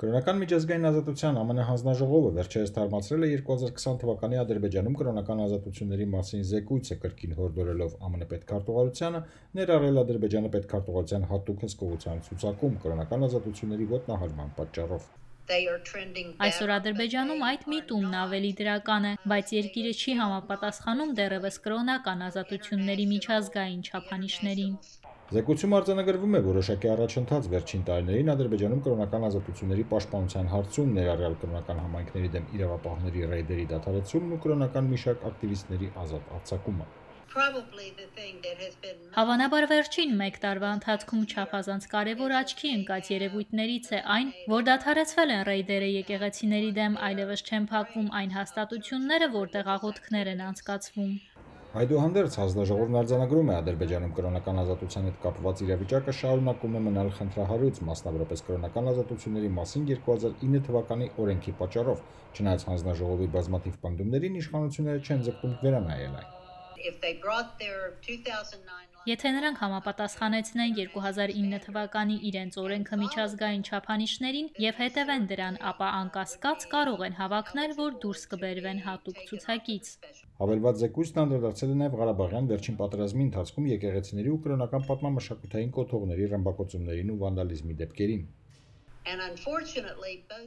Կրոնական միջազգային ազատության ԱՄՆ հանձնաժողովը վերջերս թարմացրել է 2020 թվականի Ադրբեջանում կրոնական ազատությունների մասին զեկույցը, կրկին հորդորելով ԱՄՆ պետքարտուղարությանը ներառել Ադրբեջանը պետքարտուղարության հատուկ հսկողության ցուցակում կրոնական ազատությունների ոտնահարման պատճառով։ Այսօր Ադրբեջանում այդ միտումն ավելի դրական է, բայց երկիրը չի համապատասխանում դեռևս կրոնական ազատությունների միջազգային չափանիշներին։ Զեկույցում արձանագրվում է որոշակի առաջընթաց վերջին տարիներին Ադրբեջանում կրոնական ազատությունների պաշտպանության հարցում, ներառյալ կրոնական համայնքների դեմ իրավապահների ռեյդերի դադարեցումն ու կրոնական մի շարք ակտիվիստների ազատ արձակումը։ Հավանաբար վերջին մեկ տարվա ընթացքում չափազանց կարևոր աչքի ընկած երևույթներից է այն, որ դադարեցվել են ռեյդերը եկեղեցիների դեմ, այլևս չեն փակվում այն հաստատությունները, որտեղ աղոթքներ են անցկացվում։ Այդուհանդերձ հանձնաժողովն արձանագրում է Ադրբեջանում կրոնական ազատության հետ կապված իրավիճակը շարունակում է մնալ խնդրահարույց, մասնավորապես կրոնական ազատությունների մասին 2009 թվականի օրենքի պատճառով, չնայած հանձնաժողովի բազմաթիվ պնդումներին իշխանությունները չեն ձգտում վերանայել այն։ Եթե նրանք համապատասխանեցնեն 2009 թվականի իրենց օրենքը միջազգային չափանիշներին եւ հետևեն դրան, ապա անկասկած կարող են հավակնել, որ դուրս կբերվեն հատուկ ցուցակից։ Հավելված զեկույցն անդրադարձել է նաև Ղարաբաղյան վերջին պատերազմի ընթացքում եկեղեցիների ու կրոնական պատմամշակութային կոթողների ռմբակոծումներին ու վանդալիզմի դեպքերին։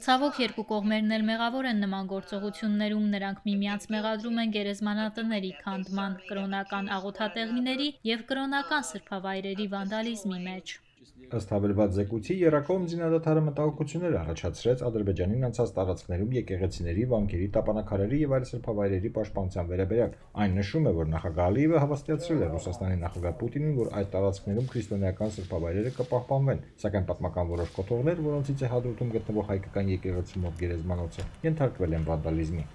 Ցավոք երկու կողմերն էլ մեղավոր են նման գործողություններում, նրանք միմյանց մեղադրում են գերեզմանատների քանդման, կրոնական աղոթատեղիների եւ կրոնական սրբավայրերի վանդալիզմի մեջ։ Ըստ հավելված զեկույցի եռակողմ զինադադարը մտահոգություններ առաջացրեց Ադրբեջանին անցած տարածքներում եկեղեցիների, վանքերի, տապանաքարերի եւ այլ սրբավայրերի պաշտպանության վերաբերյալ։ Այն նշում է, որ նախագահ Ալիևը հավաստիացրել է Ռուսաստանի նախագահ Պուտինին, որ այդ տարածքներում քրիստոնեական սրբավայրերը կպահպանվեն, սակայն պատմական որոշ կոթողներ, որոնցից է Հադրութում գտնվող հայկական եկեղեցու գերեզմանոցը, ենթարկվել են վանդալիզմի։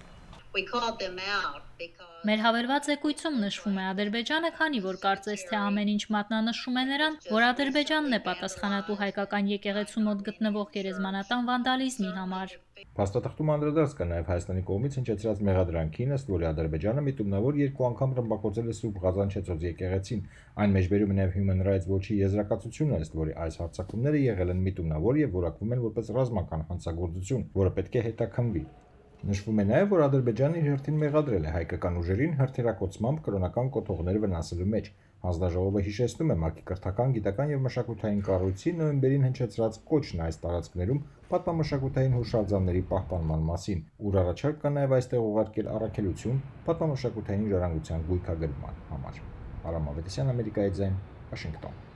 Մեր հավելված զեկույցում նշվում է Ադրբեջանը, քանի որ կարծես թե ամեն ինչ մատնանշում է նրան, որ Ադրբեջանն է պատասխանատու հայկական եկեղեցու մոտ գտնվող գերեզմանատան վանդալիզմի համար։ Փաստաթղթում անդրադարձ կա նաև Հայաստանի կողմից հնչեցրած մեղադրանքին, ըստ որի Ադրբեջանը միտումնավոր 2 անգամ ռմբակոծել է Սուրբ Ղազանչեցոց եկեղեցին։ Այն մեջբերում է նաև Human Rights Watch-ի եզրակացությունը, ըստ որի այս հարձակումները եղել են միտումնավոր եւ որակվում են որպես ռազմական հանցագործություն, որը պետք է հետաքննվի։ Նշվում է նաև, որ Ադրբեջանը իր հերթին մեղադրել է հայկական ուժերին հրթիռակոծմամբ կրոնական կոթողներ վնասելու մեջ։ Հանձնաժողովը հիշեցնում է ՄԱԿ-ի կրթական, գիտական եւ մշակութային կառույցի նոյեմբերին հնչեցրած կոչն այս տարածքներում պատմամշակութային հուշարձանների պահպանման մասին, ուր առաջարկ կա նաև այստեղ ուղարկել առաքելություն պատմամշակութային ժառանգության գույքագրման համար։ Արամ Ավետիսյան, Ամերիկայի ձայն, Վաշինգտոն։